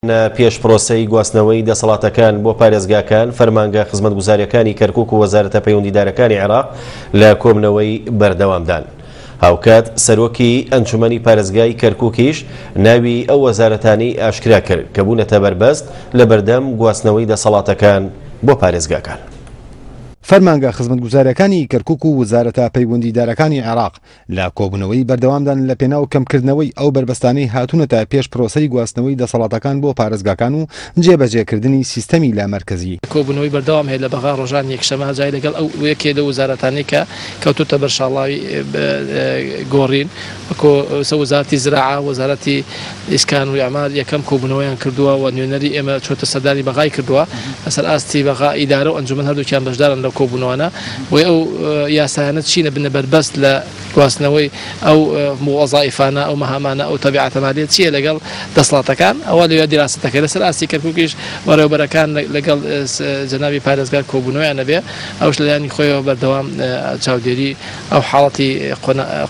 پێش پرۆسەی گواستنەوەی دەسەڵاتەکان بۆ پارێزگاکان، فەرمانگە خزمەتگوزارییەکانی کەرکوک و وەزارەتە پەیوەندیدارەکانی عێراق لە کۆبنەوەی بەردەوامدان. هاوکات سەرۆکی ئەنجومەنی پارێزگای کەرکوکیش ناوی ئەو وەزارەتانەی ئاشکرا کرد کە بوونەتە بەربەست لەبەردەم گواستنەوەی دەسەڵاتەکان بۆ پارێزگاکان. فەرمانگە خزمەتگوزارییەکانی کەرکوک و وەزارەتە پەیوەندیدارەکانی عێراق لە کۆبوونەوەی بەردەوامدان لە پێناو کەمکردنەوەی ئەو بەربەستانەی هاتوونەتە پێش پرۆسەی گواستنەوەی دەسەڵاتەکان بۆ پارێزگاکان و جێبەجێکردنی سیستەمی لامەرکەزی. کۆبوونەوەی بەردەوام هەیە لە بەغا ڕۆژانی یەکشەمە جای لەگەڵ ئەو یەکێ لەو وەزارەتانەی کە کەوتۆتە بەر شاڵاوی گۆڕین وەکۆ وەزارەتی زراعە، وەزارەتی ئیسکان و ئیعمار یەکەم کۆبوونەوەیان کردووە و نوێنەری ئێمە چۆتە سەردانی بەغای کردووە لەسەر ئاستی بەغا ئیدارە و ئەنجومەن هەردووکیان بەشدارن لەو کۆبوونەوانە بۆیە ئەو یاسایانە چینە بنە بەربەست لە گواستنەوەی ئەو وەزائیفانە ئەو مەهامانە ئەو تەبیعەتە مالیە چییە لەگەڵ دەسەڵاتەکان ئەوە لەوێ دیراسەتەکەی لەسەر ئاستی کەرکوکیش بەڕێوەبەرەکان لەگەڵ جەنابی پارێزگار کۆبوونەوەیان ئەبێ ئەوش لەلایەنی خۆیەوە بەردەوام چاودێری ئەو حاڵەتی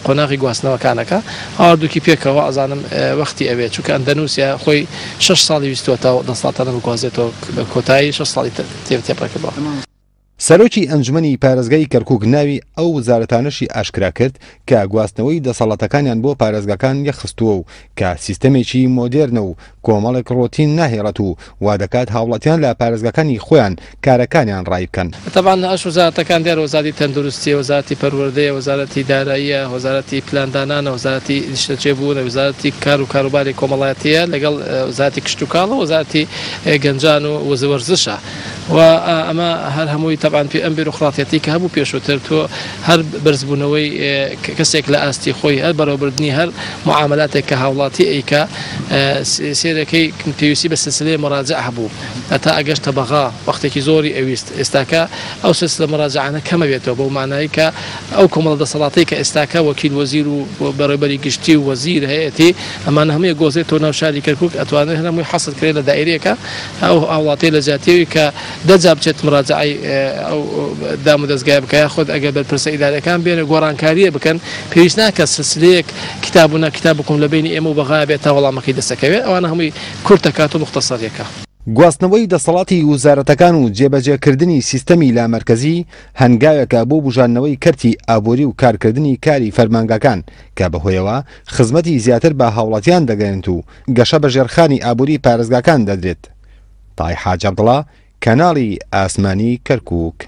قۆناغی گواستنەوەکانەکە هەردووکی پێکەوە ئەزانم وەختی ئەوێ چونکە ئەندەنوسیا خۆی شەش ساڵی ویستووە تا دەسەڵاتانە بگوازێتەوە لە کۆتایی شەش ساڵی تێپەڕ کردووە. سەرۆکی ئەنجومەنی پارێزگای کەرکوک ناوی ئەو وەزارەتانەشی ئاشکرا کرد کە گواستنەوەی دەسەڵاتەکانیان بۆ پارێزگاکان یەکخستووە و کە سیستەمێکی مۆدێرنە و کۆمەڵێک ڕۆتین ناهێڵێت و وادەکات هاوڵاتیان لە پارێزگاکانی خۆیان کارەکانیان ڕایی بکەن. تەبعەن ئەش وەزارەتەکان دیارە وەزارەتی تەندروستیە، وەزارەتی پەروەردەیە، وەزارەتی داراییە، وەزارەتی پلاندانانە، وەزارەتی نیشتەجێبوونە، وەزارەتی کار و کاروباری کۆمەڵایەتیە، لەگەڵ وەزارەتی کشتوکاڵە، وەزارەتی گەنجان و وەرزشە و ئەمە هەر هەمووی تەبعەن پێ ئەم بیرۆقراتیەتی کە هەبوو پێشووتر تۆ هەر بەرزبوونەوەی کەسێک لە ئاستی خۆی هەر بەڕێوەبردنی هەر معاملاتێک کە هاوڵاتی ئەیکا سێرەکەی پێویستی بە سلسلەی مراجع هەبوو هەتا ئەگەشتە بەغا وەختێکی زۆری ئەویست ئێستاکە ئەو سلسلە مراجعانە کەمە بێتەوە بەو مانای کە ئەو کۆمەڵە دەسەڵاتەی کە ئێستاکە وەکیل وەزیر و بەڕێوبەری گشتی و وەزیر هەیەتی ئەمانە هەمووی گۆزێتەوە ناو شاری کەرکوک ئەتوانێت هەر هەمووی حەسر کرێت لە دائیرەیەکە ئەو هاوڵاتیە لە جیاتیەوی کە دە جار بچێت مراجعەی ئەو دام و دەزگایە بکا یاخود ئەگەر بەرپرسە ئیداریەکان بێن و گۆڕانکاریە بکەن پێویست ناکات سلسلەیەک کتاب و نا کتابکم لە بەینی ئێمە و بەغایا بێت تا وەڵامەکەی دەست ئەکەوێت ئەوانە هەمووی کورت ئەکات و موختەسەریەکا. گواستنەوەی دەسەڵاتی وزارەتەکان و جێبەجێکردنی سیستەمی لامەرکەزی هەنگاوێکە بۆ بوژاندنەوەی کەرتی ئابوری و کارکردنی کاری فەرمانگاکان کە بەهۆیەوە خزمەتی زیاتر بە هاوڵاتیان دەگەیەنێت و گەشە بە ژێرخانی ئابوری پارێزگاکان دەدرێت. تای حاج عەبدوڵا، کەناڵی ئاسمانی کەرکوک.